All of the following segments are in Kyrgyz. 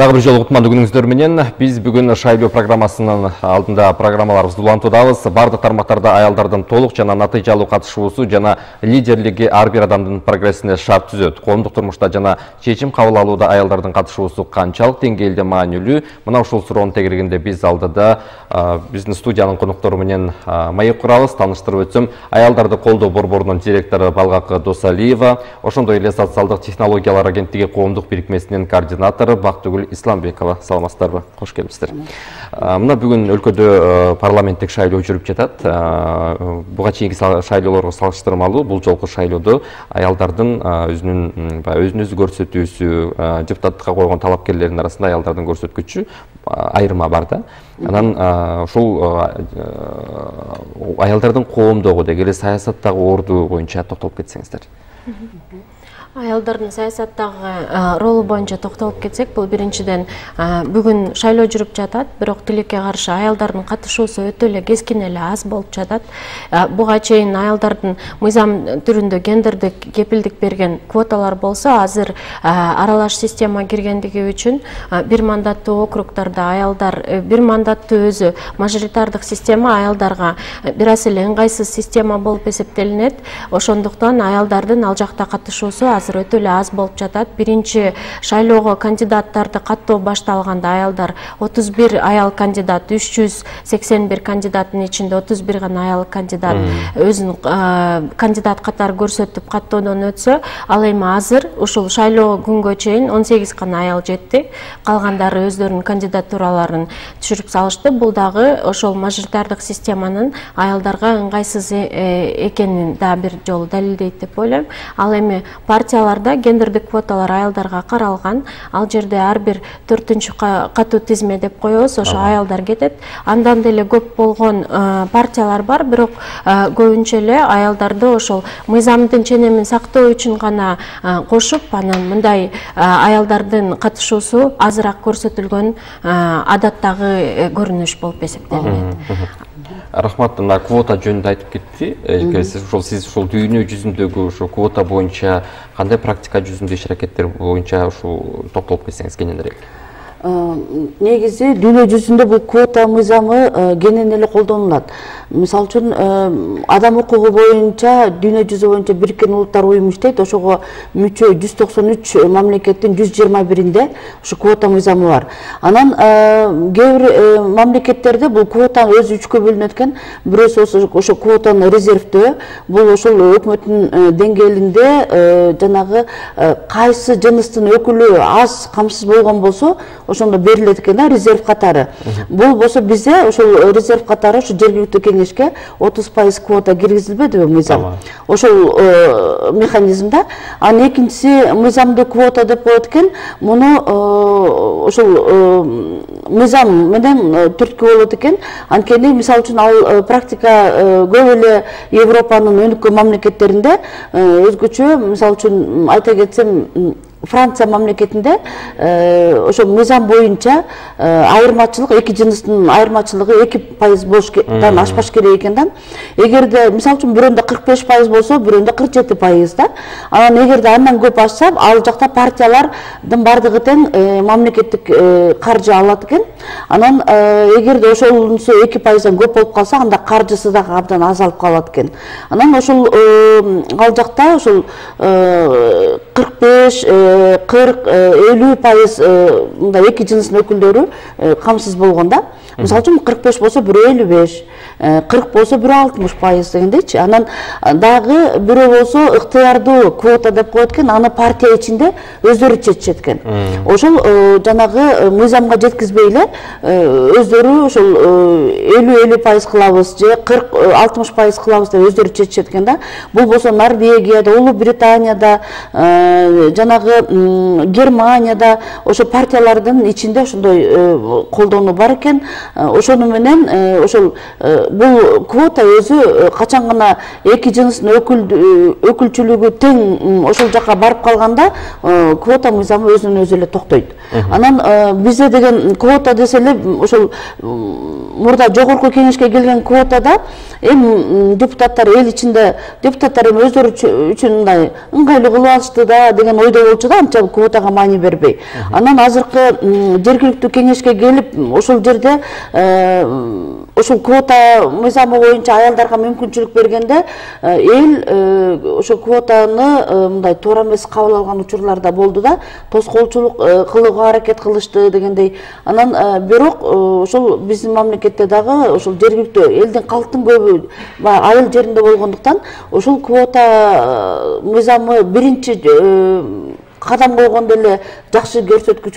Дагы бир жолу кутмандуу күнүңүздөр менен биз бүгүн шайлоо программасынын алдында программаларыбызды улантуудабыз. Бардык тармактарда аялдардын толук жана натыйжалуу катышуусу жана лидерлиги ар бир адамдын прогрессине шарт түзөт. Коомдук турмушта жана чечим кабыл алууда аялдардын катышуусу канчалык деңгээлде маанилүү? Мына ушул суроонун тегерегинде биз алдыда биздин студиянын коноктору менен маек курабыз. Тааныштырып өтсөм, аялдарды колдоо борборунун директору Балгак Досалиева, ошондой эле социалдык технологиялар агенттиги коомдук бирикмесинин координатору Бактыгүл Исламбекова. Саламатсыздарбы? Кош келипсиздер. Мына бүгүн өлкөдө парламенттик шайлоо жүрүп жатат. Буга чейинки шайлоолорго салыштырмалуу бул жолку шайлоодо аялдардын өзүн-өзү көрсөтүүсү, депутаттыкка койгон талапкерлердин арасында аялдардын көрсөткүчү айырма бар да. Анан ушул аялдардын коомдогу деги эле саясаттагы орду боюнча токтолуп кетсеңиздер. Аялдардын саясаттагы ролу боюнча токтолуп кетсек, бул биринчиден бүгүн шайлоо жүрүп жатат, бирок тилекке каршы аялдардын катышуусу өтө эле кескин эле аз болуп жатат. Буга чейин аялдардын мыйзам түрүндө гендердик кепилдик берген квоталар болсо, азыр аралаш система киргендиги үчүн бир мандаттуу округдарда аялдар, бир мандаттуу өзү мажоритардык система аялдарга бир аз эле ыңгайсыз система болуп эсептелинет. Ошондуктан аялдардын ал жакта катышуусу азыр өтө эле аз болуп жатат. Биринчи шайлоого кандидаттарды каттоо башталганда аялдар 31 аял кандидат, 381 кандидаттын ичинде 31 гана аял кандидат өзүн кандидат катары көрсөтүп каттоодон өтсө, ал эми азыр ушул шайлоо күнгө чейин 18 гана аял жетти. Калгандары өздөрүнүн кандидатураларын түшүрүп салышты. Бул дагы ошол мажоритардык системанын аялдарга ыңгайсыз экенин да бир жолу далилдейт деп ойлойм. Ал эми партияларда гендердик квоталар аялдарга каралган. Ал жерде ар бир 4-чү катуу тизме деп коебуз, ошо аялдар кетет. Андан деле көп болгон партиялар бар, бирок көбүнчө эле аялдарды ошол мыйзамдын ченемин сактоо үчүн гана кошуп, анан мындай аялдардын катышуусу азыраак көрсөтүлгөн адаттагы көрүнүш болуп эсептелинет. Рахмат, мына квота жөнүндө айтып кетти. Сиз ушул дүйнө жүзүндөгү ушул квота боюнча кандай практика жүзүндө иш аракеттер боюнча ушул токтолуп кетсеңиз кененирээк. Негизи дүйнө жүзүндө бул квота мыйзамы кенен эле колдонулат. Мисалы үчүн адам укугу боюнча дүйнө жүзү боюнча Бириккен Улуттар уюму иштейт. Ошого мүчө 193 мамлекеттин 121-инде ушу квота мыйзамы бар. Анан кээ бир мамлекеттерде бул квота өзү 3кө бөлүнөт экен. Бирөөсү ошо квотаны резервдөө, бул ошол өкмөттүн деңгээлинде жанагы кайсы жыныстын өкүлү аз камсыз болгон болсо, ошондо берилет экен да, резерв катары. Бул болсо бизде ошол резерв катары ушу жергиликтүү кеңешке 30% квота киргизилбедиби мыйзам. Ошол механизмда. Анан экинчиси мыйзамды квота деп коет экен. Муну ошол мыйзам менен түрткү болот экен. Анткени мисалы үчүн ал практика көп эле Европанын өнүккөн мамлекеттеринде өзгөчө, мисалы үчүн айта кетсем, Франция мамлекетинде ошо мыйзам боюнча айырмачылык, эки жыныстын айырмачылыгы 2% болуштан ашпаш керек экен да. Эгерде мисалы үчүн бирөөндө 45% болсо, бирөөндө 47% да. Анан эгерде андан көп ашса, ал жакта партиялардын бардыгы тең мамлекеттик каржы алат экен. Анан эгерде ошонусу 2%дан көп болуп калса, анда каржысы да абдан азалып калат экен. Анан ошол ал жакта ошол 45 40-50% мындай эки жыныстын өкүлдөрү камсыз болгон да. Мисалы үчүн 45 болсо бирөө 55, 40 болсо бирөө 60% дегендейчи. Анан дагы бирөө болсо ыктыярдуу квота деп коет экен, аны партия ичинде өздөрү чечишет экен. Ошол жанагы мыйзамга жеткизбей эле өздөрү ошол 50% кылабыз же 40-60% кылабыз деп өздөрү чечишет экен да. Бул болсо Норвегияда, Улуу Британияда, жанагы Германияда ошо партиялардын ичинде ошондой колдонуу бар экен. Ошону менен ошол бул квота өзү качан гана эки жыныстын өкүлчүлүгү тең ошол жака барып калганда квота мыйзамы өзүнөн өзү эле токтойт. Анан бизде деген квота десе эле ошол мурда жогорку кеңешке келген квотада эми депутаттар эл ичинде депутаттар эми өздөрү үчүн мындай ыңгайлуу кылып алышты да деген ойдо болчу да, анча квотага маани бербей. Анан азыркы жергиликтүү кеңешке келип ошол жерде ошол квота мыйзамы боюнча аялдарга мүмкүнчүлүк бергенде эл ошол квотаны мындай туура эмес кабыл алган учурлар да болду да, тоскоолчулук кылууга аракет кылышты дегендей. Анан бирок ошол биздин мамлекетте дагы ошол жергиликтүү элдин калктын көбү айыл жеринде болгондуктан ошол квота мыйзамы биринчи кадам койгондо эле жакшы көрсөткүч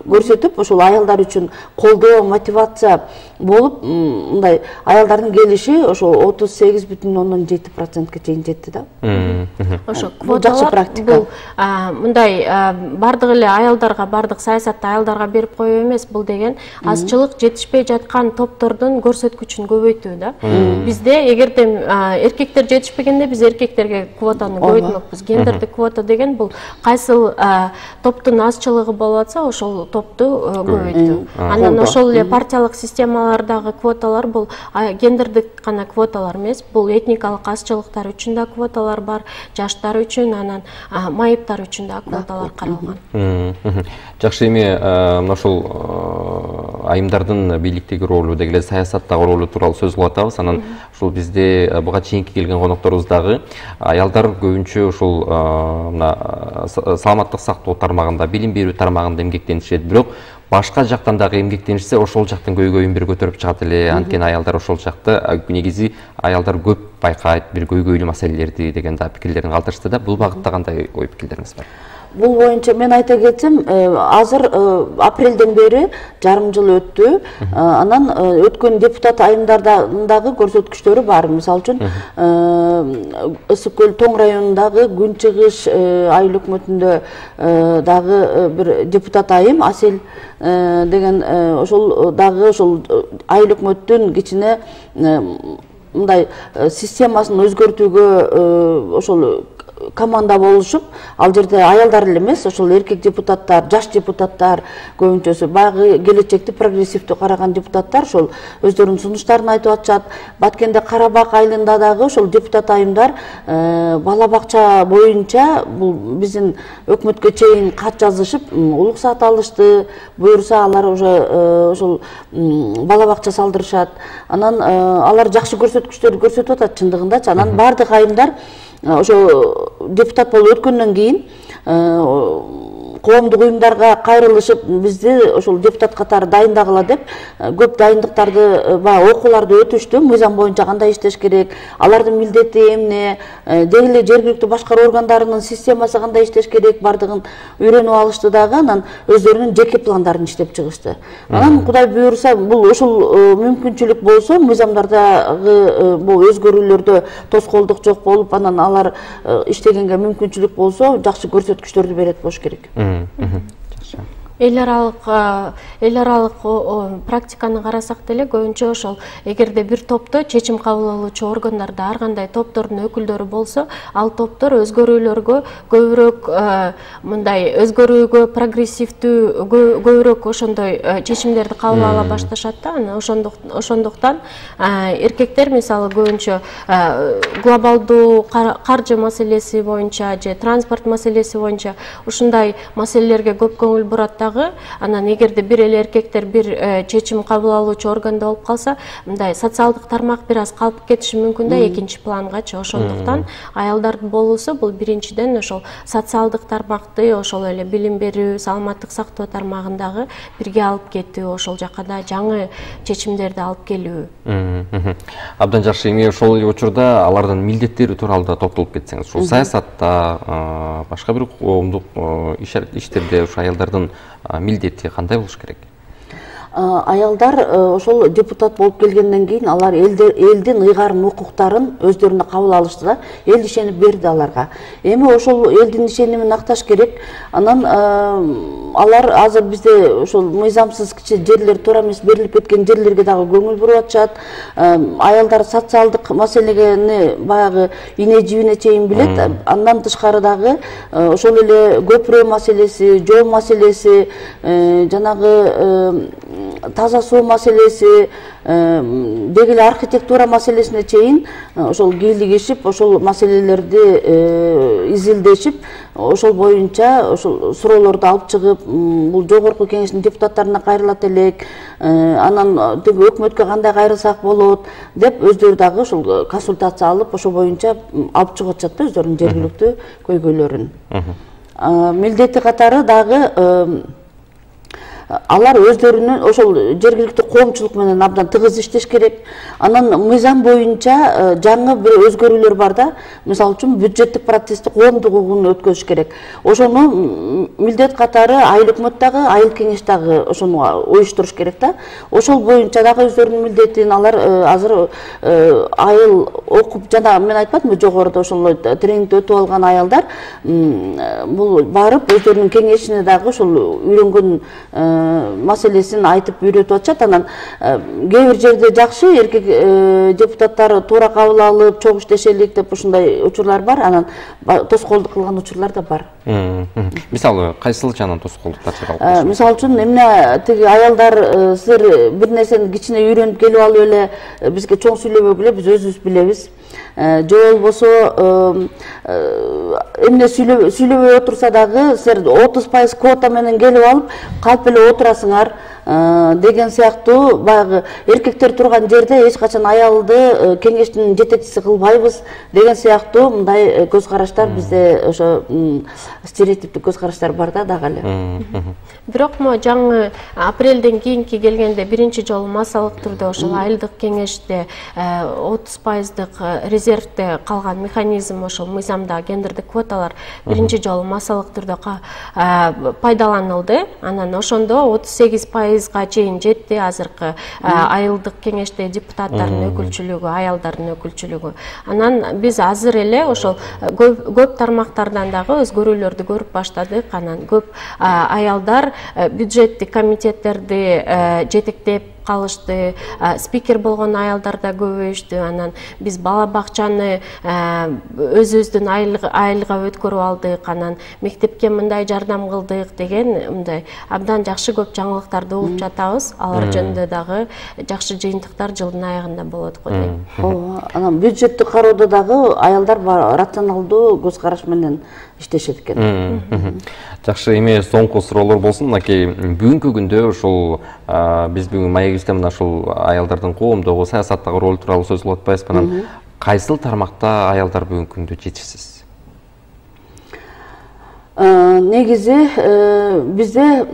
көрсөтүп, ошол аялдар үчүн колдоо, мотивация болуп, мындай аялдардын келиши ошол 38,7%ке чейин жетти да. Ошо квоталар бул мындай бардык эле аялдарга, бардык саясатты аялдарга берип коюу эмес, бул деген азчылык жетишпей жаткан топтордун көрсөткүчүн көбөйтүү да. Бизде эгерде эркектер жетишпегенде биз эркектерге квотаны көбөйтмөкпүз. Гендердик квота деген бул кайсыл топтун азчылыгы болуп атса, ошол топту көбөйтүү. Анан ошол эле партиялык системалардагы квоталар бул гендердик гана квоталар эмес, бул этникалык азчылыктар үчүн да квоталар бар, жаштар үчүн, анан майыптар үчүн да квоталар каралган. Жакшы, эми ошол айымдардын бийликтеги ролу деги эле саясаттагы ролу тууралуу сөз кылып атабыз. Анан ушул бизде буга чейинки келген конокторубуз дагы аялдар көбүнчө ушул мына саламаттык сактоо тармагында, билим берүү тармагында эмгектенишет, бирок башка жактан дагы эмгектенишсе ошол жактын көйгөйүн бир көтөрүп чыгат эле. Анткени аялдар ошол жакта негизи аялдар көп байкайт бир көйгөйлүү маселелерди деген да пикирлерин калтырышты да. Бул багытта кандай ой пикирлериңиз бар? Бул боюнча мен айта кетсем, азыр апрелден бери жарым жыл өттү. Анан өткөн депутат айымдардагы көрсөткүчтөрү бар. Мисалы үчүн Ысык көл Тоң районундагы Күн Чыгыш айыл өкмөтүндө дагы бир депутат айым Асел деген ошол дагы ошол айыл өкмөттүн кичине мындай системасын өзгөртүүгө ошол команда болушуп, ал жерде аялдар эле эмес, ошол эркек депутаттар, жаш депутаттар көбүнчөсү, баягы келечекти прогрессивдүү караган депутаттар ошол өздөрүнүн сунуштарын айтып атышат. Баткенде Карабак айылында дагы ошол депутат айымдар бала бакча боюнча бул биздин өкмөткө чейин кат жазышып, уруксат алышты, буюрса алар уже ошол бала бакча салдырышат. Анан алар жакшы көрсөткүчтөрдү көрсөтүп атат чындыгындачы. Анан бардык айымдар ошо депутат болуп өткөндөн кийин коомдук уюмдарга кайрылышып, бизди ошол депутат катары дайындагыла деп көп дайындыктарды, окууларды өтүштү. Мыйзам боюнча кандай иштеш керек, алардын милдети эмне, деги эле жергиликтүү башкаруу органдарынын системасы кандай иштеш керек, бардыгын үйрөнүп алышты дагы. Анан өздөрүнүн жеке пландарын иштеп чыгышты. Анан Кудай буюрса, бул ошол мүмкүнчүлүк болсо, мыйзамдардагы бул өзгөрүүлөрдө тоскоолдук жок болуп, анан алар иштегенге мүмкүнчүлүк болсо, жакшы көрсөткүчтөрдү берет болуш керек. Эл аралык практиканы карасак деле көбүнчө ошол эгерде бир топто чечим кабыл алуучу органдарда ар кандай топтордун өкүлдөрү болсо, ал топтор өзгөрүүлөргө көбүрөөк мындай өзгөрүүгө прогрессивдүү көбүрөөк ошондой чечимдерди кабыл ала башташат да. Ошондуктан эркектер мисалы көбүнчө глобалдуу каржы маселеси боюнча же транспорт маселеси боюнча ушундай маселелерге көп көңүл бурат. Анан эгерде бир эле эркектер бир чечим кабыл алуучу органда болуп калса, мындай социалдык тармак бир аз калып кетиши мүмкүн да, экинчи плангачы. Ошондуктан аялдардын болуусу бул биринчиден ошол социалдык тармакты, ошол эле билим берүү, саламаттык сактоо тармагындагы бирге алып кетүү, ошол жака да жаңы чечимдерди алып келүү. Абдан жакшы. Эми ошол учурда алардын милдеттери тууралуу да токтолуп кетсеңиз, ушул саясатта, башка бир коомдук иштерде ушу аялдардын милдети кандай болуш керек? аялдар ошол депутат болуп келгенден кийин алар элдин ыйгарым укуктарын өздөрүнө кабыл алышты да, эл ишенип берди аларга. Эми ошол элдин ишенимин акташ керек. Анан алар азыр бизде ошол мыйзамсыз кичи жерлер, туура эмес берилип кеткен жерлерге дагы көңүл буруп атышат. Аялдар социалдык маселени баягы ине жибине чейин билет. Андан тышкары дагы ошол эле көпүрө маселеси, жол маселеси, жанагы таза суу маселеси, деги эле архитектура маселесине чейин ошол кийлигишип, ошол маселелерди изилдешип, ошол боюнча ошол суроолорду алып чыгып, бул жогорку кеңештин депутаттарына кайрылат элек, анан өкмөткө кандай кайрылсак болот деп өздөрү дагы ошол консультация алып, ошол боюнча алып чыгып атышат да өздөрүнүн жергиликтүү көйгөйлөрүн. Милдети катары дагы алар өздөрүнүн ошол жергиликтүү коомчулук менен абдан тыгыз иштеш керек. Анан мыйзам боюнча жаңы бир өзгөрүүлөр бар да. Мисалы үчүн бюджеттик процессти коомдук угун өткөзүш керек. Ошону милдет катары айыл өкмөт дагы, айыл кеңеш дагы ошону уюштуруш керек да. Ошол боюнча дагы өздөрүнүн милдетин алар азыр айыл окуп, жана мен айтпадымбы жогоруда ошол тренингди өтүп алган аялдар бул барып өздөрүнүн кеңешине дагы ошол үйрөнгөн маселесин айтып үйрөтүп атышат. Анан кээ бир жерде жакшы эркек депутаттар туура кабыл алып, чогуу иштешелик деп ушундай учурлар бар. Анан тоскоолдук кылган учурлар да бар. Мисалы кайсыл жанан тоскоолдуктар чыгат? Мисалы үчүн эмне тиги аялдар силер бир нерсени кичине үйрөнүп келип алып эле бизге чоң сүйлөбөгүлө, биз өзүбүз билебиз. Же болбосо эмне сүйлөбөй отурса дагы силер 30% квота менен келип алып калп эле отурасыңар деген сыяктуу баягы эркектер турган жерде эч качан аялды кеңештин жетекчиси кылбайбыз деген сыяктуу мындай көз караштар бизде ошо стереотиптик көз караштар бар да дагы эле. Бирок жаңы апрелден кийинки келгенде биринчи жолу массалык түрдө ошол айылдык кеңеште 30% резервде калган механизм ошол мыйзамда гендердик квоталар биринчи жолу массалык түрдө пайдаланылды. Анан ошондо 38%га чейин жетти азыркы айылдык кеңеште депутаттардын өкүлчүлүгү, аялдардын өкүлчүлүгү. Анан биз азыр эле ошол көп тармактардан дагы өзгөрүүлөрдү көрүп баштадык. Анан көп аялдар бюджеттик комитеттерди жетектеп калышты, спикер болгон аялдар да көбөйүштү. Анан биз бала бакчаны өзүбүздүн айылга өткөрүп алдык, анан мектепке мындай жардам кылдык деген мындай абдан жакшы көп жаңылыктарды угуп жатабыз. Алар жөнүндө дагы жакшы жыйынтыктар жылдын аягында болот го дейм. Анан бюджетти кароодо дагы аялдар рационалдуу көз караш менен иштешет экен. Жакшы, эми соңку суроолор болсун. Мынакей бүгүнкү күндө ушул биз бүгүн маегибизде мына ушул аялдардын коомдогу, саясаттагы ролу тууралуу сөз кылып атпайбызбы? Анан кайсыл тармакта аялдар бүгүнкү күндө жетишсиз? Негизи бизде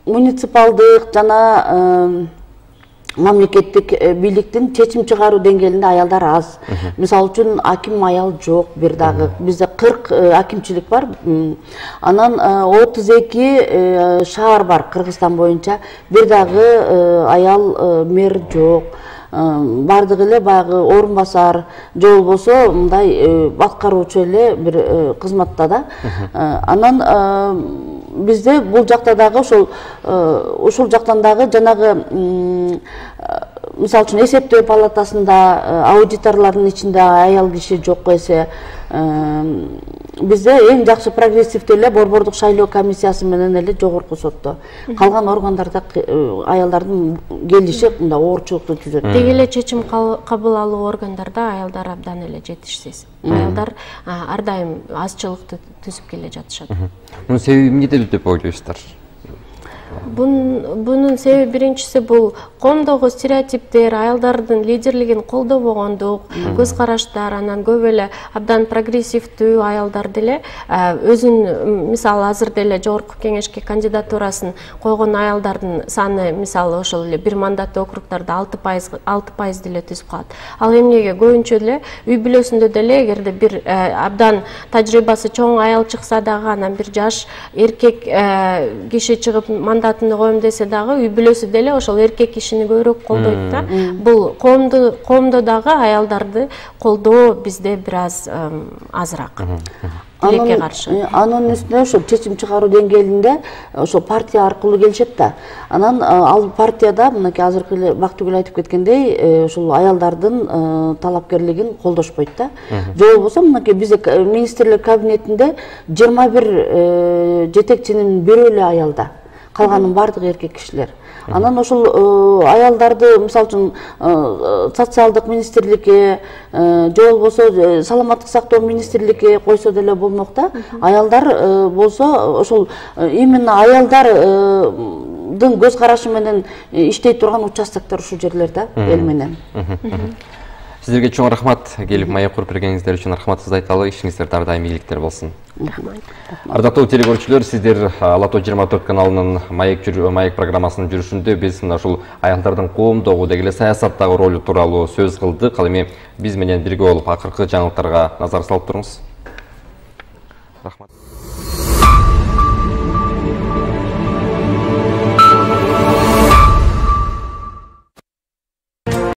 муниципалдык жана мамлекеттик бийликтин чечим чыгаруу деңгээлинде аялдар аз. Мисалы үчүн аким аял жок, бир дагы бизде 40 акимчилик бар. Анан 32 шаар бар Кыргызстан боюнча, бир дагы аял мэр жок. Бардыгы эле баягы орун басар, же болбосо мындай аткаруучу эле бир кызматта да. Анан бизде бул жакта дагы ушул жактан дагы жанагы мисалы үчүн эсептөө палатасында аудиторлордун ичинде аял киши жок эсе, бизде эң жакшы прогрессивдүү эле борбордук шайлоо комиссиясы менен эле жогорку сотто. Калган органдарда аялдардын келиши мындай оорчулукту түзөт. Деги эле чечим кабыл алуу органдарда аялдар абдан эле жетишсиз. Аялдар ар дайым азчылыкты түзүп келе жатышат. Мунун себеби эмнеде деп ойлойсуздар? Bunun себеби биринчиси бул коомдогу стереотиптер, аялдардын лидерлигин колдобогондук, көз караштар, анан көп эле абдан прогрессивдүү аялдар деле өзүн мисалы азыр деле жогорку кеңешке кандидатурасын койгон аялдардын саны мисалы ошол эле бир мандаттуу округдарда 6% деле түзүп калат. Ал эмнеге көбүнчө эле үй бүлөсүндө деле эгерде бир абдан тажрыйбасы чоң аял чыкса дагы, анан бир жаш эркек киши чыгып мандат депутатыны коем десе дагы үй бүлөсү деле ошол эркек кишини көбүрөөк колдойт да. Бул коомдо дагы аялдарды колдоо бизде бир аз азыраак. Тилекке каршы. Анын үстүнө ошо чечим чыгаруу деңгээлинде ошо партия аркылуу келишет да. Анан ал партияда мынакей азыркы эле Бактыгүл айтып кеткендей, ушул аялдардын талапкерлигин колдошпойт да. Же болбосо мынакей бизде министрлик кабинетинде 21 жетекчинин бирөө эле аялда. Калганын баардыгы эркек кишилер. Анан ошол аялдарды мисалы үчүн социалдык министрликке же болбосо саламаттык сактоо министрликке койсо деле болмок да. Аялдар болсо ошол именно аялдардын көз карашы менен иштей турган участоктор ушул жерлер да, эл менен. Сиздерге чоң рахмат, келип маек куруп бергениңиздер үчүн рахматыбызды айталы, ишиңиздер ар дайым ийгиликтер болсун. Ардактуу телекөрүүчүлөр, сиздер Ала тоо 24 каналынын маек программасынын жүрүшүндө биз ушул аялдардын коомдогу деги эле саясаттагы ролу тууралуу сөз кылдык. Ал эми биз менен бирге болуп акыркы жаңылыктарга назар салып туруңуз. Рахмат.